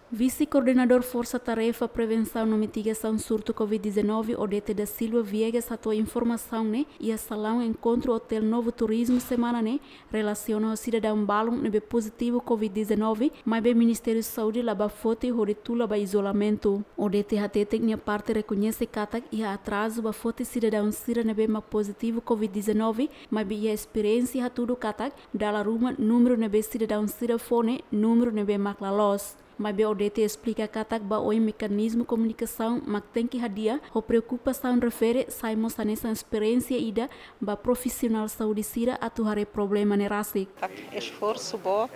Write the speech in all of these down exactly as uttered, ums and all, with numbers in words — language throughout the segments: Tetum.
Vise-Koordenadór Forsa Tarefa Prevensaun no Mitigasaun Surtu Covid-19, Odete da Silva Viegas, hato'o informasaun ne'e iha salaun enkontru Hotel Novo Turismo semana ne'e, relasiona ho sidadaun balun ne'ebé pozitivu Covid-19, maibé Ministériu Saúde la bá foti hodi tula ba izolamentu. Odete hateten nia parte rekoñese katak iha atrazu bá foti sidadaun sira ne'ebé mak pozitivu Covid-19, maibé iha esperiénsia hatudu katak dala ruma númeru ne'ebé sidadaun sira fó ne'e númeru ne'ebé mak la loos. Maibé Odete esplika katak ba oin mekanizmu komunikasaun mak tenke hadi'a, ho preokupasaun refere sai mós hanesan esperiénsia ida ba profisionál saúde sira atu haree problema ne'e rasik. Katak esforsu boot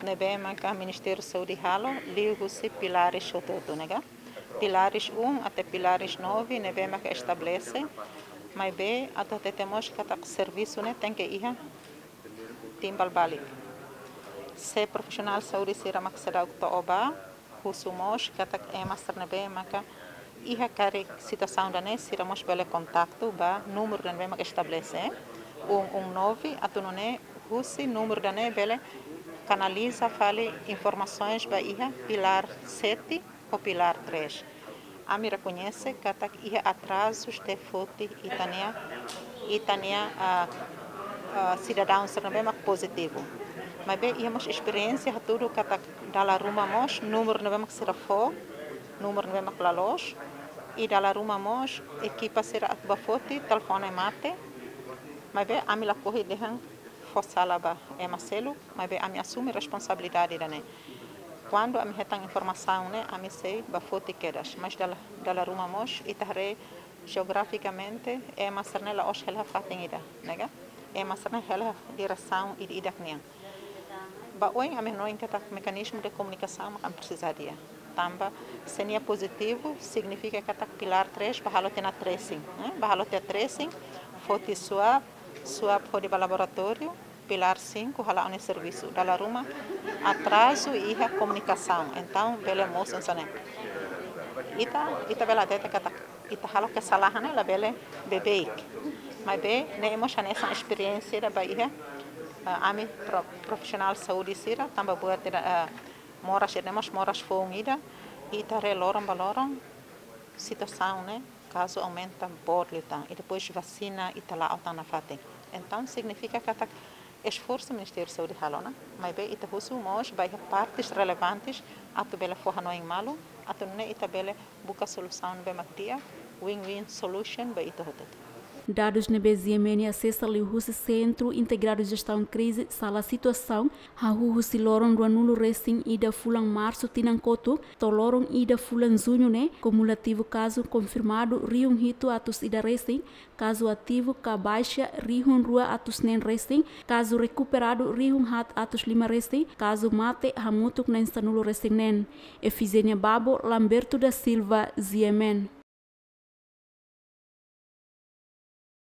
ne'ebé maka Ministériu Saúde halo, liuhusi pilares hotu-hotu ne'e ka. Pilares um até pilares nove ne'ebé maka estabelese, maibé atu hatete mós katak servisu ne'e tenke iha timbal balik. Se profisionál saúde sira mak seidauk to'o bá, husu mós katak ema sira ne'ebé maka iha karik situasaun ida-ne'e sira mós bele kontaktu ba númeru ida ne'ebé mak estabelese, um um nove, atu nune'e husi númeru ida-ne'e bele kanaliza fali informasoens ba iha pilár sete ho pilár três. Ami rekoñese katak iha atrazus de foti ita-nia, ita-nia, ah, ah, sidadaun sira ne'ebé mak pozitivu. Maibé iha mós esperiénsia hatudu katak dala ruma mós númeru ne'ebé mak sira fó, númeru ne'ebé mak la loos, i dala ruma mós ekipa sira atu bá foti telefone mate. Maibé ami lakohi dehan fó sala ba ema seluk, maibé ami asume responsabilidade ida-ne'e. Kuandu ami hetan informasaun ne'e, ami sei bá foti kedas. Mas dala, dala ruma mós, ita haree jeografikamente, ema sira-ne'e la'ós hela fatin ida, ne'e ka? Ema sira-ne'e hela diresaun ida-idak nian. Ba oin ami hanoin katak mekanizmu de komunikasaun mak ami presiza hadi'a. Tanba se nia pozitivu, signifika katak pilár três bá halo tiha ona tracing, eh? Bá halo tiha tracing, foti swab, swab hodi ba laboratóriu, pilár cinco hala'o nia servisu. Dala ruma atrazu iha komunikasaun. Entaun, bele mosu hanesan ne'e. Ita, ita bele hatete katak ita halo kesalahan ne'e labele beibeik. Maibé, ne'e mós hanesan esperiénsia ida ba iha, ah, ami pro-, profisionál saúde sira, tanba buat ida, ah, moras ida-ne'e mós moras foun ida, ita haree loron ba loron, situasaun ne'e, kazu aumenta boot liután, i depois vasina ita la'o tan nafatin. Entaun, signifika katak esforsu Ministériu Saúde halo ona, maibé ita husu mós ba iha partes relevantes atu bele fó hanoin malu, atu nune'e ita bele buka solusaun ne'ebé mak di'ak, win-win solution ba ita hotu. Dadus ne'ebé G M N asesa liuhusi Sentru Integradu Jestaun Krize, sala situasaun, hahú husi loron ruanulu resin ida fulan Marsu tinan kotuk, to'o loron ida fulan Juñu ne'e, kumulativu kazu konfirmadu rihun hitu atus ida resin, kazu ativu ka baixa rihun rua atus neen resin, kazu rekuperadu rihun haat atus lima resin, kazu mate hamutuk na'in sanulu resin neen. Efigénia Babo, Lamberto da Silva, G M N.